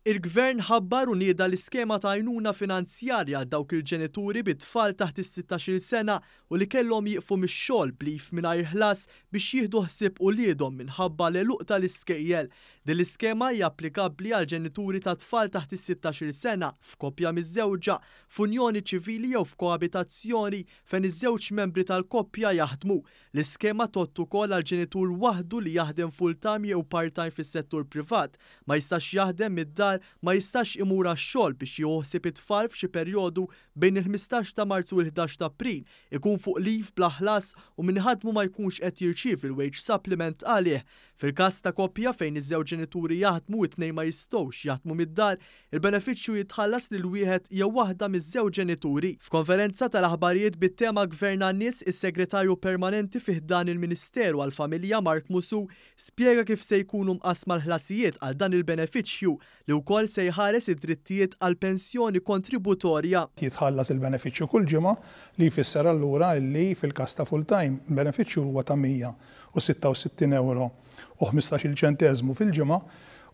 Il-Gvern ħabbar u nieda l-iskema ta' għajnuna finanzjarja għal dawk il-ġenituri bi tfal taħt is-sittax-il sena u li kellhom jieqfu mix-xogħol b'leave mingħajr ħlas biex jieħdu ħsieb uliedhom minħabba l-għeluq tal-iskejjel. Din l-iskema hija applikabbli għal ġenituri ta' tfal taħt is-sittax-il sena f'koppja miżżewġa, f'unjoni ċivili jew f'koabitazzjoni fejn iż-żewġ membri tal-koppja jaħdmu. L-iskema tgħodd ukoll għal ġenitur waħdu li jaħdem full-time jew part-time fis-settur privat, ma jistax jaħdem mid-dar, ma jistax imur għax-xogħol biex jieħu ħsieb it-tfal f'xi perjodu bejn il-15 ta' Marzu u l-11 ta' April, ikun fuq leave bla ħlas u min iħaddmu ma jkunx qed jirċievi l-wage supplement għalih. Fil-każ ta' koppja fejn iż-żewġ ġenituri jaħdmu u t-tnejn ma jistgħux jaħdmu mid-dar, il-benefiċċju jitħallas lil wieħed jew waħda miż-żewġ ġenituri. F'konferenza tal-aħbarijiet bit-tema Gvern għan-Nies, is-Segretarju Permanenti fi ħdan il-Ministeru għall-Familja Mark Musù spjega kif se jkunu mqassma l-ħlasijiet għal dan il-benefiċċju li wkoll se jħares id-drittijiet għall-pensjoni kontributorja. Jitħallas il-benefiċċju kull ġimgħa, li jfisser allura li fil-każ ta' full-time, il-benefiċċju huwa ta' 166 ewro u ħmistax-il ċenteżmu fil-ġimgħa,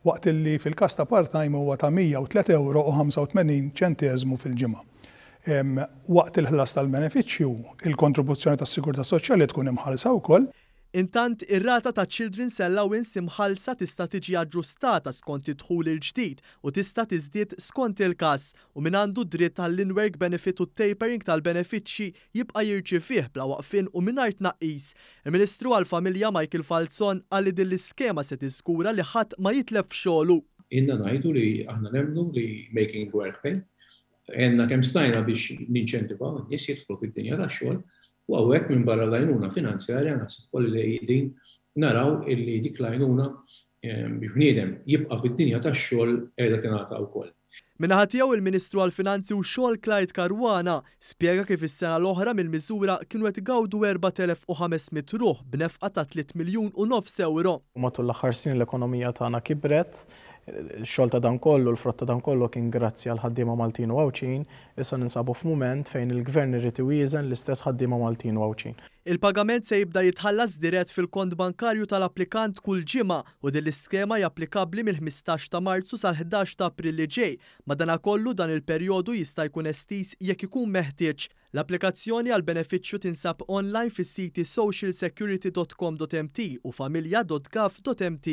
waqt li fil-każ ta' part-time huwa ta' 103 ewro u 85 ċenteżmu fil-ġimgħa. Waqt il-ħlas tal-benefiċċju, il-kontribuzzjoni tas-sigurtà soċjali tkun imħallsa wkoll. Intant, ir-rata ta' Children's Allowance imħallsa tista' tiġi aġġustata skont id-dħul il-ġdid u tista' tiżdied skont il-każ, u min għandu dritt għall-in-work benefit u t-tapering tal-benefiċċji jibqa' jirċievih bla waqfien u mingħajr tnaqqis. Il-Ministru għall-Familja Michael Falzon qal li din l-iskema se tiżgura li ħadd ma jitlef xogħlu. Ilna ngħidu li aħna nemmnu li making work pay. Għenna kemm stajna biex ninċentivaw in-nies jidħlu fid-dinja tax-xogħol u hawnhekk minn barra l-għajnuna finanzjarja naħseb ukoll li qegħdin naraw illi dik l-għajnuna biex bniedem jibqa' fid-dinja tax-xogħol qiegħda tingħata wkoll. Min-naħa tiegħu il-Ministru għall-Finanzi u x-Xogħol Clyde Caruana spjega kif is-sena l-oħra mill-miżura kienu qed igawdu 4,500 ruħ b'nefqa ta' tliet miljun u nofs ewro. Matul l-aħħar snin l-ekonomija tagħna kibret, ix-xogħol ta' dan kollu, l-frott ta' dan kollu kien grazzi għall-ħaddiema Maltin u Għawdxin, issa ninsabu f'mument fejn il-Gvern irid iwieżen l-istess ħaddiema Maltin u Għawdxin. Il-pagament se jibda jitħallas dirett fil-kont bankarju tal-applikant kull ġimgħa u din l-iskema hija applikabbli mill-15 ta' Marzu sal-11 ta' April li ġej. Madanakollu dan il-perjodu jista' jkun estiż jekk ikun meħtieġ. L-applikazzjoni għall-benefiċċju tinsab online fis-siti socialsecurity.com.mt u familja.gov.mt.